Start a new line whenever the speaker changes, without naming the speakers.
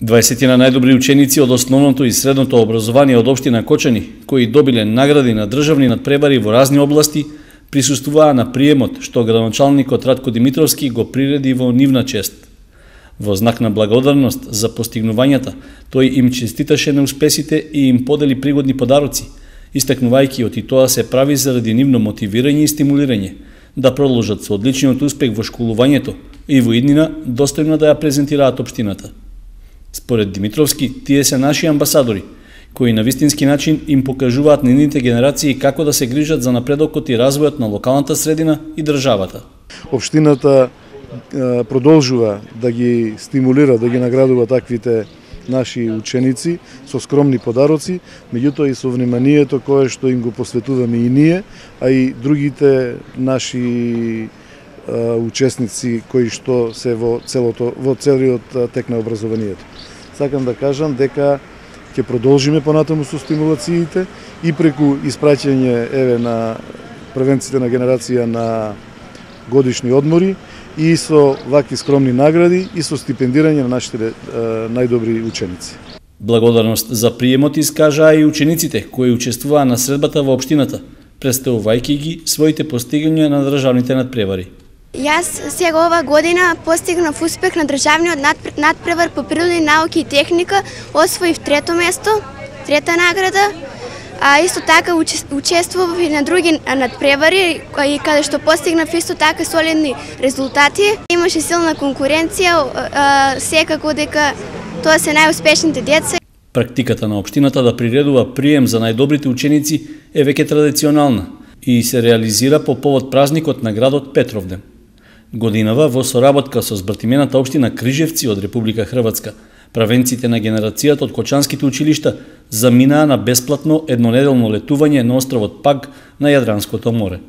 20 на најдобри ученици од основното и средното образование од општина Кочани, кои добиле награди на државни надпревари во разни области, присуствуваа на приемот што градоначалникот Ратко Димитровски го приреди во нивна чест. Во знак на благодарност за постигнувањата, тој им честиташе на успесите и им подели пригодни подароци, истакнувајќи оти тоа се прави заради нивно мотивирање и стимулирање, да продолжат со одличниот успех во школувањето и во иднина достојно да ја презентираат општината. Според Димитровски, тие се наши амбасадори, кои на вистински начин им покажуваат на нивните генерации како да се грижат за напредокот и развојот на локалната средина и државата.
Општината продолжува да ги стимулира, да ги наградува таквите наши ученици со скромни подароци, меѓутоа и со вниманието кое што им го посветуваме и ние, а и другите наши учесници кои што се во целиот тек на образованието. Сакам да кажам дека ќе продолжиме понатаму со стимулациите и преку испраќање на првенците на генерација на годишни одмори и со вакви скромни награди и со стипендирање на нашите најдобри ученици.
Благодарност за приемот искажаа и учениците кои учествуваа на средбата во општината, представувајќи ги своите постигања на државните надпревари.
Јас сега ова година постигнав успех на државниот надпревар по природни науки и техника, освоив трето место, трета награда, а исто така учествував и на други надпревари и каде што постигнав исто така солидни резултати. Имаше силна конкуренција, секако дека тоа се најуспешните деца.
Практиката на општината да приредува прием за најдобрите ученици е веќе традиционална и се реализира по повод празникот на градот Петровден. Годинава во соработка со збртимената општина Крижевци од Република Хрватска, правенците на генерацијата од кочанските училишта заминаа на бесплатно еднонеделно летување на островот Паг на Јадранското море.